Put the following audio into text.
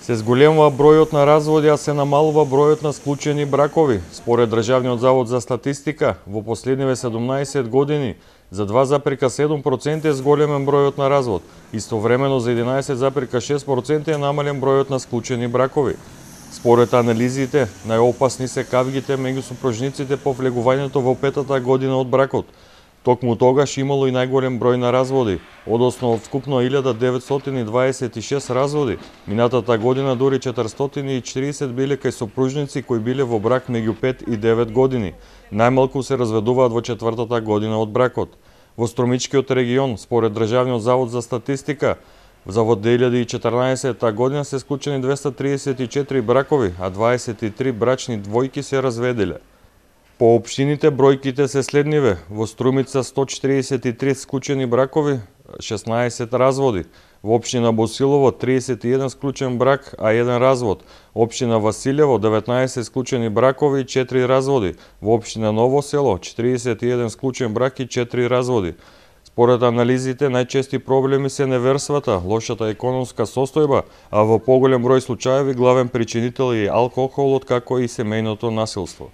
Се зголемува бројот на разводи, а се намалува бројот на склучени бракови. Според Државниот завод за статистика, во последниве 17 години за 2,7% е зголемен бројот на развод. Истовремено за 11,6% е намален бројот на склучени бракови. Според анализите, најопасни се кавгите меѓу супружниците по влегувањето во петата година од бракот. Токму тогаш имало и најголем број на разводи, односно вкупно 1926 разводи. Минатата година дури 440 биле кај сопружници кои биле во брак меѓу 5 и 9 години. Најмалку се разведуваат во четвртата година од бракот. Во Стромичкиот регион, според Државниот завод за статистика, за 2014 година се склучени 234 бракови, а 23 брачни двојки се разведеле. По општините бројките се следниве: во Струмица 143 склучени бракови, 16 разводи; во општина Босилово 31 склучен брак, а 1 развод; општина Василево 19 склучени бракови и 4 разводи; во општина Ново село 41 склучен брак и 4 разводи. Според анализите, најчести проблеми се неверствата, лошата економска состојба, а во поголем број случаеви главен причинител е алкохолот, како и семејното насилство.